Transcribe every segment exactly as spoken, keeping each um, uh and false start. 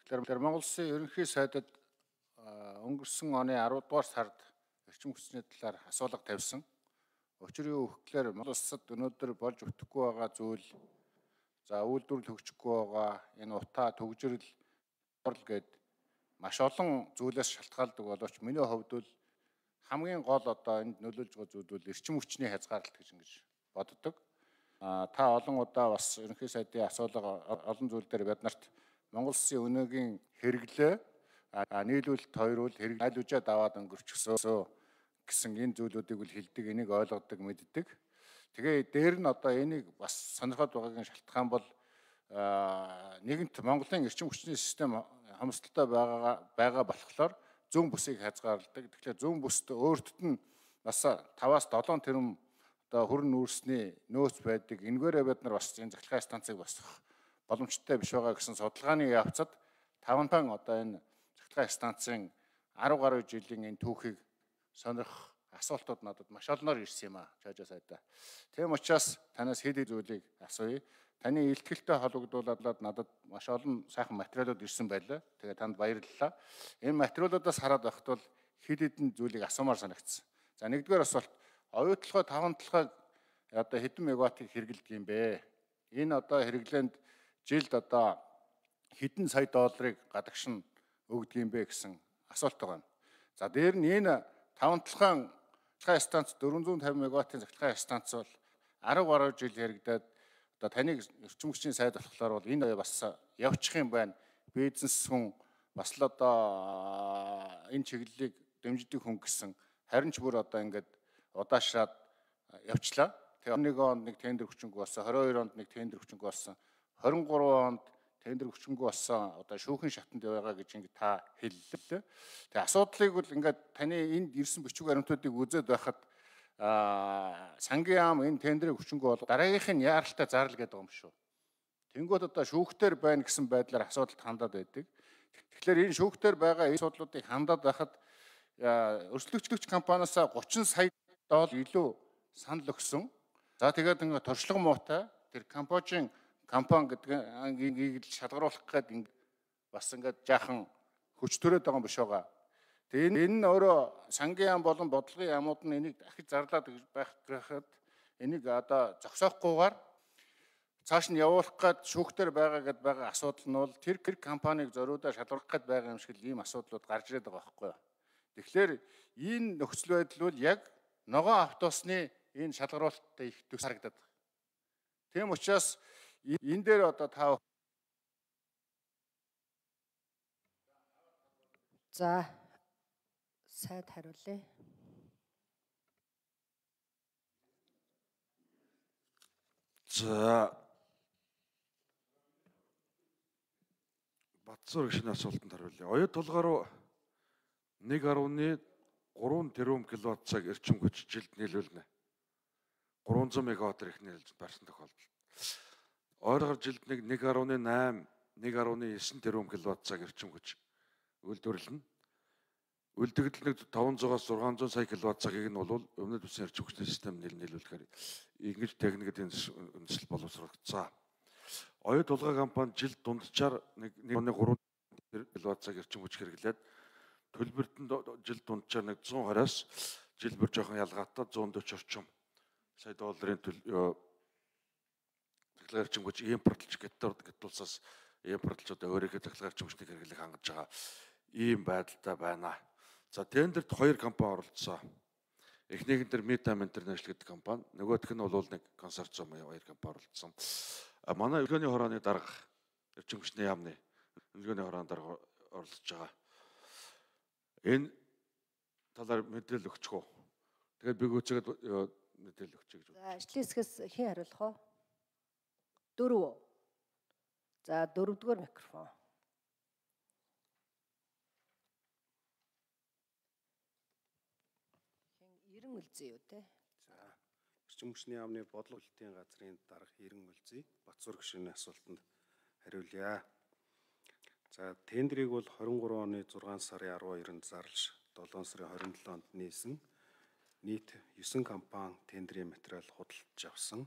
Тэгэхээр Монгол Улсын ерөнхий сайдад өнгөрсөн оны аравдугаар дугаар сард эрчим хүчний талаар асуулга тавьсан. Учир юу гэхээр Монгол Улсад өнөөдөр болж өгөхгүй байгаа зүйл, за үйлдвэрлэл хөгжихгүй байгаа энэ утаа төгжрөл гэд маш олон зүйлээс шалтгаалдаг боловч миний хувьд бол хамгийн гол одоо энд нөлөөлж байгаа зүйл бол эрчим хүчний хязгаарлалт гэж ингэж боддог. А та олон удаа бас ерөнхий сайдын асуулга олон зүйл дээр бид нарт Монгол Улсын өнөөгийн хэрэглээ нийлүүлэлт хоёр бол хэрэг аль үжээд аваад өнгөрчихсөө гэсэн энэ зүйлүүдийг үл хэлдэг, энийг ойлгодог, мэддэг. Тэгээ дээр нь одоо энийг бас сонирхоод байгаагийн шалтгаан бол нэгэнт Монголын эрчим хүчний систем хамсалтай байгаа байгаа болохоор зүүн бүсийг хязгаарладаг. Тэгэхээр зүүн бүст өөртөд нь бас таваас долоон тэрбум одоо хөрн нүүрсний нөөц байдаг. Энэгээрээ бид нар бас энэ захиргааны станцыг босгох боломжтой биш байгаа гэсэн судалгааны явцад тавантан одоо энэ захиргааны станцын арав гаруй жилийн энэ түүхийг сонирх асуултууд надад маш олноор ирсэн юм а жаажаа сайдаа. Тийм учраас танаас хэд хэд зүйлийг асууя. Таны илтгэлтэй холбогдуулаад надад маш олон сайхан материалууд ирсэн байлаа. Тэгээ танд баярлалаа. Энэ материалуудаас хараад байхад бол хэд хэдэн зүйлийг асуумаар санагдсан. За нэгдүгээр асуулт, оюутлогоо таван толгойг одоо хэдэн мегаваттыг хэрэглэдэг юм бэ? Энэ одоо хэрэглээнд жилд одоо хэдэн сая долларыг гадагшин өгдөг юм бэ гэсэн асуулт байгаа. За дээр нь энэ таван толгойн захиргааны станц дөрвөн зуун тавин мегаваттын захиргааны станц бол арав гаруй жил хэрэгдээд одоо таныг эрчим хүчний сайд болохоор бол энэ бас явчих юм байна. Бизнес хүн бас л одоо энэ чиглэлийг дэмждэг хүн гэсэн харин ч бүр одоо ингээд удаашраад явчлаа. Тэгээ он нэг онд нэг тендер хүчингүй болсон, хорин хоёр онд нэг тендер хүчингүй болсон, хорин гурван онд тендер хүчингүй болсон одоо шүүхийн шатанд байгаа гэж ингээд та хэллээ. Тэгээ асуудлыг бол ингээд таны энд ирсэн бичиг баримтуудыг үзээд байхад аа сангийн яам энэ тендерийг хүчингүй бол дараагийнх нь яаралтай зарлал гэдэг юм шүү. Тэнгүүд одоо шүүхтэр байна гэсэн байдлаар асуудалд хандаад байдаг. Тэгэхээр энэ шүүхтэр байгаа энэ асуудлуудыг хандаад байхад өрсөлдөгчлөгч компаниас гучин сая доллар илүү санал өгсөн. За тэгээд ингээд туршлага муутай тэр Камбожийн компани гэдгийг шалгаруулах гээд бас ингээд жаахан хүч төрөөд байгаа юм биш байгаа. Тэгээ энэ нь өөрөө сангийн яам болон бодлогын яамууд нь энийг дахиж зарлаад байх гэхэд энийг одоо зогсоохгүйгээр цааш нь явуулах гээд шүүхтэр байгаа гэдээ байгаа асуудал нь бол тэр компанийг зориудаа шалгах гээд байгаа юм шиг л ийм асуудлууд гарч ирээд байгаа байхгүй юу. Тэгэхээр энэ нөхцөл байдал бол яг ногоон автобусны энэ шалгаруулалттай их төс харагдаад байна. Тийм учраас энэ дээр одоо та за сайд хариулъя. За Батцуур гişний асуултанд хариулъя. Оюут толгой руу нэг гаруй гурван тэрбум киловатт цаг эрчим хүч жилд нийлүүлнэ. гурван зуун мегаватт их нийлж барсан тохиолдолд. Ойроор жилд нэг нэг гаруй найман, нэг гаруй девять тэрбум киловатт цаг эрчим хүч үйлдвэрлэнэ. Үлдэгдэл нэг таван зуунаас зургаан зуун сая киловатт цагийг нь бол өмнөд үсгийн эрчим хүчний систем нийлүүлэхээр ингэж техникийн үндэслэл боловсрогдсон. Оюут толгой компани жилд дунджаар нэг гурван киловатт цаг эрчим хүч хэрэглээд төлбөртөнд жилд дунджаар нэг зуун хараас жил бүр жоохон ялгаатай зуун дөрвөн орчим сая долларын төлөв захиргааны эрчим хүч импортлж гэдтулсаас импортлж одоо өөрийнхөө захиргааны эрчим хүчнийг хэрэглэх хангаж байгаа ийм байдалтай байна. За тендерт хоёр компани оролцсон. Эхнийхэн дээр Metam International гэдэг компани, нөгөөх нь бол нэг консорциум хоёр компани оролцсон. А манай өргөний хорооны дарга эрчим хүчний яамны өргөний хорооны дарга оролцож байгаа. Энэ талаар мэдээлэл өгчих үү? Тэгээд би гүцгээд мэдээлэл өгчих гэж байна. За ажлын хэсгээс хэн хариулах вэ? Дөрөв. За дөрөвдүгээр микрофон. Ирэн Үлзий юу те? За эрчим хүчний яамны бодлого хэлтийн газрын дарга Ирэн Үлзий Батцуур гişний асуултанд хариулъя. За тендерийг бол хорин гурван оны зургаан сарын арав хоёрнд зарлж долоон сарын хорин долоонд нээсэн. Нийт девять компани тендерийн материал худалдаж авсан.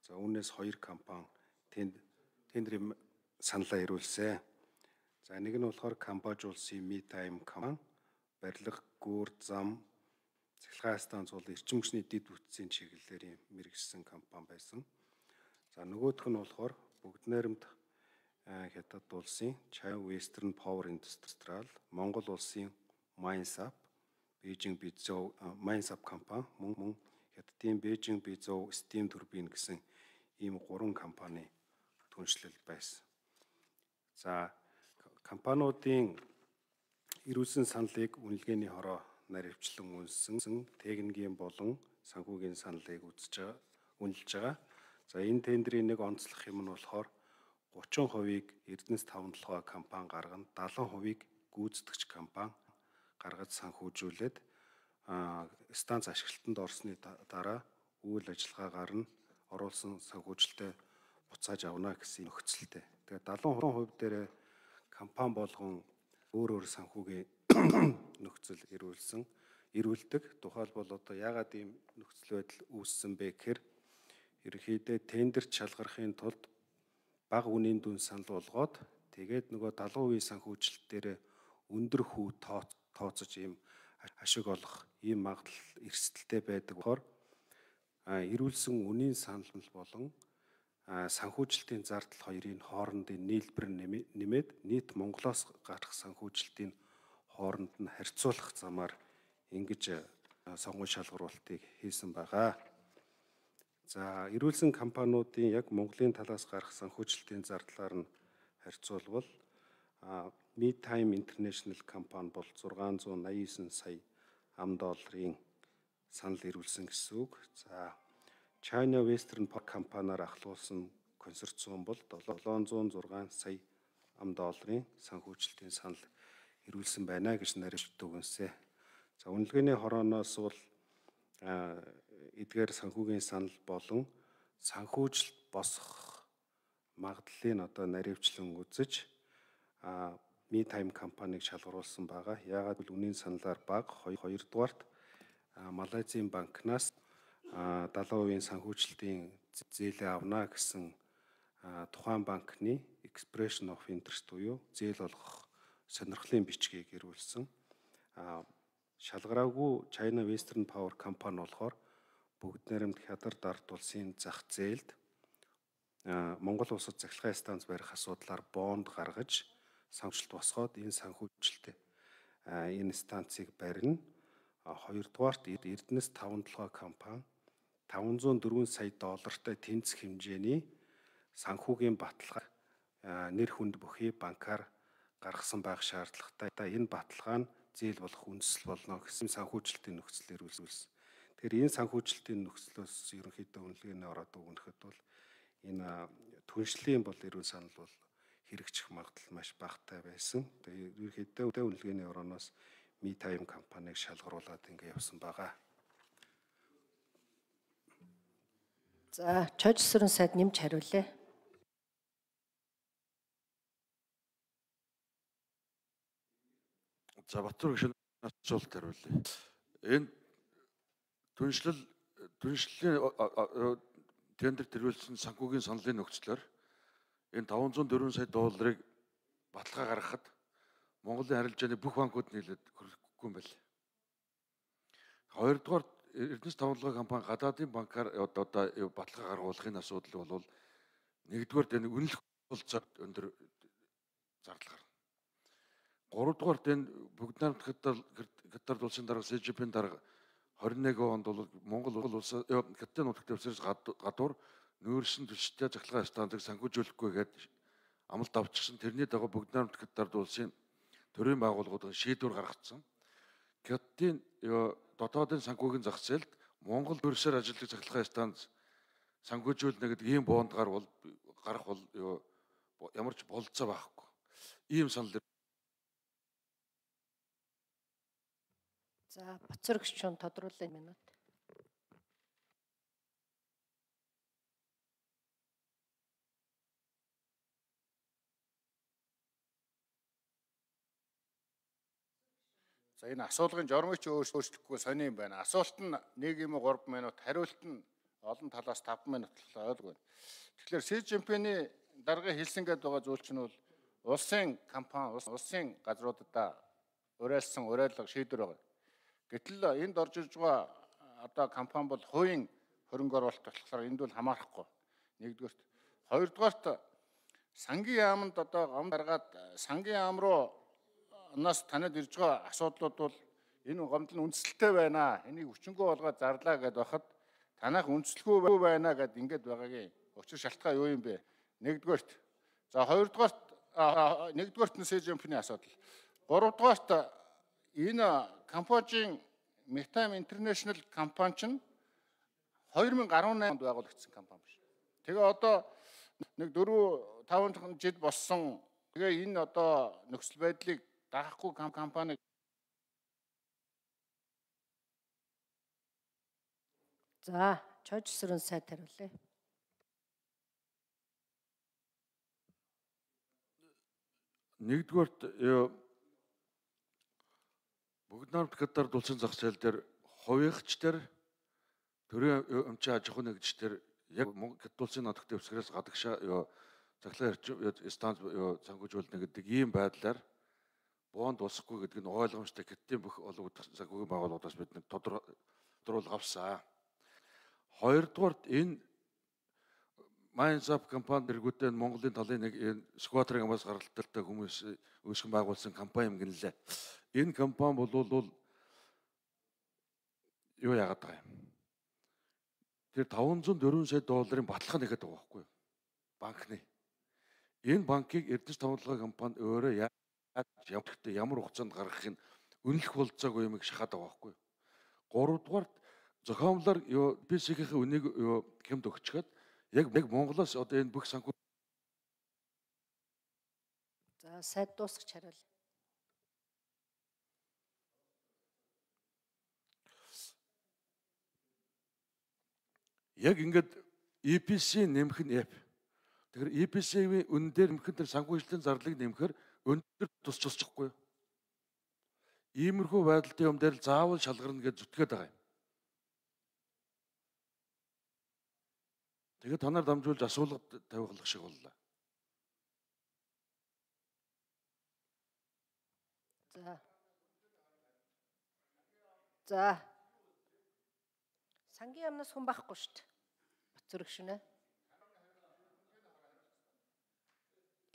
За үүнээс хоёр компани тендерийн саналаа ирүүлсэн. За За нэг нь болохоор Камбож улсын MeTime компани барилга, гүүр, зам, цахилгаан станц бол эрчим хүчний дэд бүтцийн чиглэлээр мэргэжсэн компани байсан. За нөгөөх нь болохоор бүгд найрамд Хятад улсын China Western Power Industrial, Монгол улсын Minesap, Beijing Bizhou Minesap компани, мөн мөн Хятадын Beijing Bizhou Steam Turbine гэсэн ийм гурван компани түншлэл байсан. За компаниудын эрүүлсэн саналыг үнэлгээний хороо наривчлан үнэлсэн, техникийн болон санхүүгийн саналыг үзэж байгаа, үнэлж байгаа. За энэ тендерийн нэг онцлог юм нь болохоор гучин хувийг Эрдэнэс таван толгой компани гаргана, даатан хувийг гүйцэтгэгч компани гаргаж санхүүжүүлээд станц ашиглалтанд орсны дараа үйл ажиллагаагаар нь оруулсан санхүүжилтээ буцааж авна гэсэн нөхцөлтэй. Тэгээд даатан хувь дээр компани болгон өөр өөр санхүүгийн нөхцөл ирүүлсэн, ирүүлдэг. Тухайлбал одоо яагаад ийм нөхцөл байдал үүссэн бэ гэхээр ерөнхийдөө тендерт шалгарахын тулд бага үнийн дүн санал болгоод тэгээд нөгөө далайн үеийн санхүүжилт дээр өндөр хүү тооцож ийм ашиг олох ийм магадлал эрсдэлтэй байдаг болохоор ирүүлсэн үнийн санал болон санхүүжилтийн зардал хоёрын хоорондын нийлбэр нэмээд нийт Монголоос гарах санхүүжилтийн хооронд нь харьцуулах замаар ингэж сонгон шалгаруулалтыг хийсэн байгаа. За эрүүлсэн компаниудын яг Монголын талаас гарах санхүүжилтийн зардлаар нь харьцуулбал MeTime International компани бол зургаан зуун наяа девять сая ам долларын санал ирүүлсэн гэсэн үг. За China Western Power компаниар ахлуулсан консорциум бол долоон зуун зургаан сая ам долларын санхүүжилтийн санал ирүүлсэн байна гэж наривчлалт өгнөсэй. За үнэлгээний хорооноос бол эдгээр санхүүгийн санал болон санхүүжилт босох магадлалыг одоо наривчлан үзэж MeTime компаниг шалгаруулсан байгаа. Яагаад гэвэл үнийн саналаар бага, хоёрдугаарт Малайзийн банкнаас далайн үеийн санхүүжилтийн зээлээ авна гэсэн тухайн банкны expression of interest буюу зээл олгох сонирхлын бичгийг ирүүлсэн. Шалгараагүй China Western Power компани болохоор бүгд найрамд Хятад ард улсын зах зээлд Монгол улсад цахилгаан станц барих асуудлаар бонд гаргаж санхүүжилт босгоод энэ санхүүжилтээ энэ станцыг барина. Хоёрдугаарт Эрдэнэс таван толгой компани таван зуун дөрвөн сая доллартай тэнцэх хэмжээний санхүүгийн баталгаа нэр хүнд бүхий банкар гаргасан байх шаардлагатай. Энэ баталгаа нь зээл болох үндэслэл болно гэсэн санхүүжилтийн нөхцөлөөр үзүүлсэн. Тэгэхээр энэ санхүүжилтийн нөхцлөөс ерөнхийдөө үнэлгээний ороод өгнөхөд бол энэ түншлэлийн бол эрүүл санал бол хэрэгжих магадлал маш багатай байсан. Тэгээд ерөнхийдөө үнэлгээний орооноос MeTime компаниг шалгаруулад ингэ явсан байгаа. За, Чожсрын сайд нэмж хариулъя. За Батбаяр гишүүн асуулт хариулъя. Энэ түншлэл түншлэлийн тендер тэрүүлсэн санхүүгийн саналын нөхцлөөр энэ таван зуун дөрвөн сая долларыг баталгаа гаргахад Монголын арилжааны бүх банкуд нийлээд хөрөхгүй юм байна. Хоёрдугаар Эрдэнэс таван толгой компани гадаадын банкар одоо баталгаа гаргуулахын асуудал бол нэгдүгээр энэ үнэлэх болцоо өндөр зардал гарна. Гуравдугаарт энэ бүгд найрамд Хятад улсын дарга Си Жинпин дарга двадцать один онд бол Монгол улс Хятадын нутагт өвсөж гадуур нүүрсэн түлштэй цахилгаан станцыг санхүүжүүлэхгүй гэдэг амлалт авчихсан. Тэрний дагуу бүгд найрамд Хятад улсын төрийн байгууллагууд шийдвэр гаргацсан. Хятадын дотоодын санхүүгийн зах зээлд Монгол төрөсөөр ажилладаг цахилгаан станц санхүүжүүлнэ гэдэг ийм бонд гарвал гарах бол ямар ч болцоо байхгүй. Ийм санал. За, Батбаяр гишүүн тодруулах минут. За энэ асуулгын журмыч өөрчлөхгүй сони юм байна. Асуулт нь нэг юм уу гурван минут, хариулт нь олон талаас таван минут болоо ойлгоо. Тэгэхээр Си Жинпиний дарга хэлсэн гээд байгаа зүйл чинь бол улсын компани, улсын газруудаа уриалсан уриалга шийдвэр байгаа. Гэтэл энд орж ирж байгаа одоо компани бол хувийн хөрөнгө оруулалт болохоор энд бол хамаарахгүй. Нэгдүгээрт, хоёрдугаарт сангийн яамд одоо гом гаргаад сангийн яам руу нас танад ирж байгаа асуудлууд бол энэ гомдол нь үндэслэлтэй байна. Энийг хүчингү болгоод зарлаа гэд байхад танах үндэслэхгүй байна гэд ингэж байгаагийн учир шалтгаан юу юм бэ? Нэгдүгээрт. За хоёрдугаарт нэгдүгээрт нь СЖМ-ийн асуудал. Гуравдугаарт энэ Камбожийн Metime International компани чинь two thousand eighteen онд байгуулагдсан компани биш. Тэгээ одоо нэг four five жил болсон. Тэгээ энэ одоо нөхцөл байдлыг даахгүй компани За, Чож Сүрэн сайд хариулъя. Нэгдүгээрт бүгд намт гадар дулсын зах зээл дээр хувийнхч дээр төрийн өмчийн аж ахуйн нэгжчдэр яг Монгол улсын нутагт дэвсгэрээс гадагшаа захлаа станц санхүүжүүлнэ гэдэг ийм байдлаар боонд улсахгүй гэдэг нь ойлгомжтой гэдэгт бүх олон санхүүгийн байгууллагаас бид нэг тодорхойлол авсан. Хоёрдугаарт энэ Майнзап компани дэргүүдээ Монголын талын нэг сквадрын амаас гаралттай хүмүүс үүсгэн байгуулсан компани юм гинлээ. Энэ компани бол юу яагаад байгаа юм? Тэр five hundred four сая долларын баталгаа нэгэд байгаа байхгүй юу? Банкны. Энэ банкыг Эрдэс тавталгаа компани өөрөө явдагтай ямар хугацаанд гаргахыг үнэлэх болцоогүй юмыг шахаад байгаа байхгүй юу? Гуравдугаарт зохиомлоор юу би си гэ-ийн үнийг юу хэмд өгчгээд яг нэг Монголоос одоо энэ бүх санхүү. За, сайд дуусгач хариул. Яг ингээд и пи си нэмэх нь F. Тэгэхээр и пи си-ийн үн дээр нэмэхэд тэр санхүүжилтийн зарлыг нэмэхээр өндөр тус тусчихгүй. Иймэрхүү байдалтай юм дээр заавал шалгарна гэж зүтгээд байгаа юм. Тэгээд та нар дамжуулж асуулга тавих шиг боллоо. За. За. Сангийн яамнаас хүн байхгүй шүү дээ. Батцөрөг шинэ.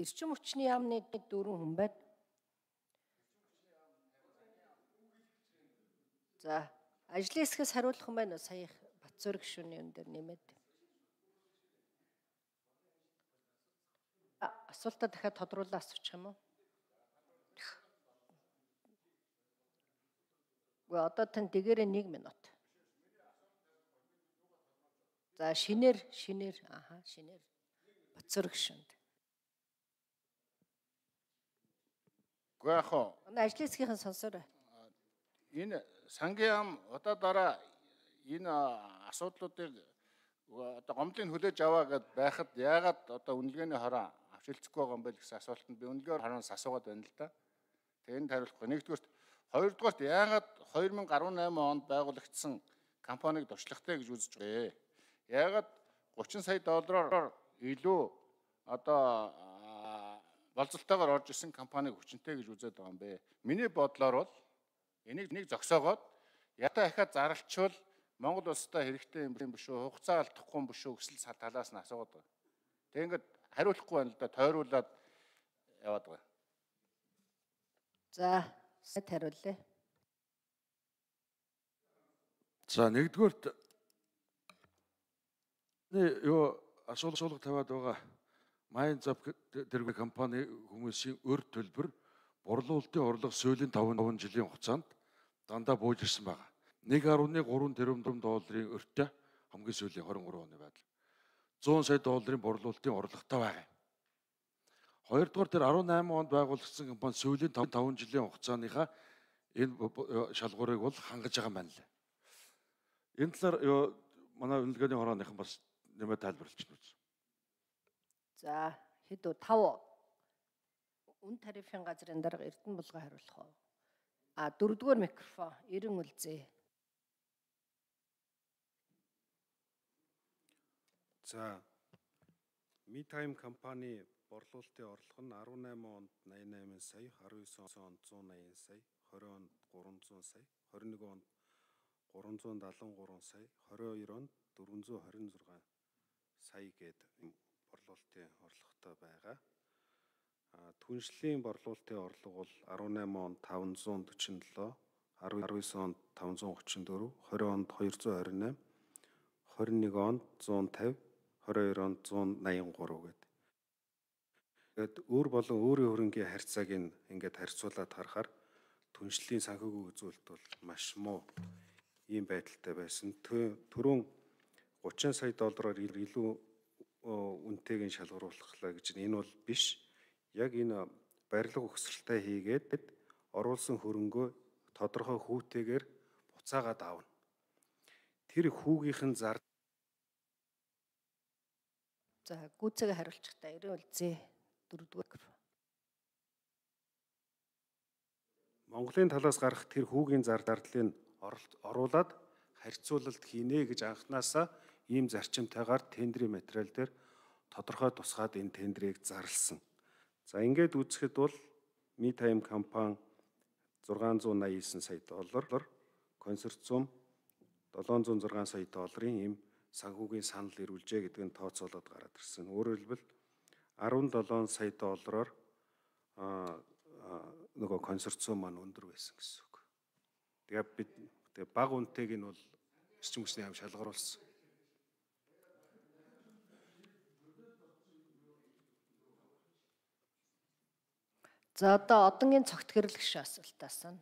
Эрчим хүчний яамны дөрвөн хүн байна. За, ажлын хэсгээс хариулах юм байна уу? Сая Батцөрөг шүний өн дээр нэмээд. Асуултаа дахиад тодруулаад асуучих юм уу? Гэхдээ одоо тань дэгээрээ нэг минут. За, шинээр шинээр ааха шинээр Батцөрөг шүнд. Гэхдээ яг хоо ажлын хэсгийнхэн сонсоорой. Энэ сангийн яам одоо дараа энэ асуудлуудыг одоо гомдлыг хүлээж аваа гэд байхад яагаад одоо үнэлгээний хороо авчилцахгүй байгаа юм бэ гэсэн асуултанд би үнэлгээр хороноос асуугаад байна л да. Тэгээ энд хариулахгүй. Нэгдүгээрт, хоёрдугаарт яагаад two thousand eighteen онд байгуулагдсан компанийг дуршлагтай гэж үзэж байгаа. Яагаад thirty сая доллараар илүү одоо болцолтойгоор орж исэн компанийг хүчинтэй гэж үзээд байгаа юм бэ? Миний бодлоор бол энийг нэг зогсоогоод ятаа ахаад зарлчвал Монгол улстай хэрэгтэй юм биш үү? Хугацаа алдахгүй юм биш үү? Гэсэл талаас нь асуугаад байгаа. Тэг ингээд хариулахгүй байна л да, тойруулаад яваад байгаа. За, сайд хариулъя. За, нэгдүгээрт юу асуулга тавиад байгаа Майнзап дэрэг компани хүмүүсийн өр төлбөр борлуулалтын орлого сүүлийн five жилийн хугацаанд дандаа бууж ирсэн байна. one point three тэрбум долларын өртөө хамгийн сүүлийн twenty-three оны байдал. one hundred сая долларын борлуулалтын орлоготой байна. Хоёрдугаар тэр eighteen онд байгуулагдсан компани сүүлийн five жилийн хугацааныхаа энэ шалгуурыг бол хангаж байгаа юм байна лээ. Энэ талаар манай үнэлгээний хорооныхан бас нэмээд тайлбарлаж байна. За, хэд үү five үн тарифын газрын дарга Эрдэнэ булган хариулах уу? А дөрөвдүгээр микрофон Эрен Үлзээ. За, Metime компани борлуулалтын орлого нь арван найман онд найман найман сая, арван девэн онд зуун найман сая, двадцать онд гурван зуун сая, двадцать нэг онд гурван зуун даалган гурван сая, двадцать хоёр онд дөрвөн зуун хорин зургаан сая гээд борлуулалтын орлоготой байгаа. Түншлэлийн борлуулалтын орлого бол арван найман онд таван зуун дөрвөн жилийн, арван девэн онд таван зуун гучин дөрөв, двадцать онд хоёр зуун хорин найман, двадцать нэг онд зуун тавь, двадцать хоёр онд зуун найман гурав гэдэг. Тэгэд өөр болон өөрийн хөрөнгийн харьцааг ингээд харьцуулаад харахаар түншлэлийн санхүүгийн үзүүлэлт бол маш муу ийм байдалтай байсан. Түрүүн гучин сая доллараар илүү үнэтэйг шалгаруулахлаа гэж энэ бол биш. Яг энэ барилга өгсрэлтэй хийгээд оруулсан хөрөнгөө тодорхой хүүтэйгээр буцаагаад аавна. Тэр хүүгийнхэн зар. За гүйцээг хариулчихтаа эрийн үлзий дөрөвдүгээр. Монголын талаас гарах тэр хүүгийн зар зардлыг оруулаад харьцуулалт хийнэ гэж анханасаа ийм зарчимтайгаар тендерийн материал дээр тодорхой тусгаад энэ тендерийг зарласан. За ингээд үзэхэд бол Meetime компани зургаан зуун найман девэн сая доллар, консорциум долоон зуун зургаан сая долларын ийм санхүүгийн санал ирүүлжээ гэдэг нь тооцоолоод гараад ирсэн. Өөрөөр хэлбэл арван долоон сая доллараар нөгөө консорциум маань өндөр байсан гэсэн үг. Тэгээ бид тэгээ бага үнэтэйг нь бол эрчим хүчний яам шалгаруулсан. За одоо одонгийн цогт гэрлэгш асуултаас нь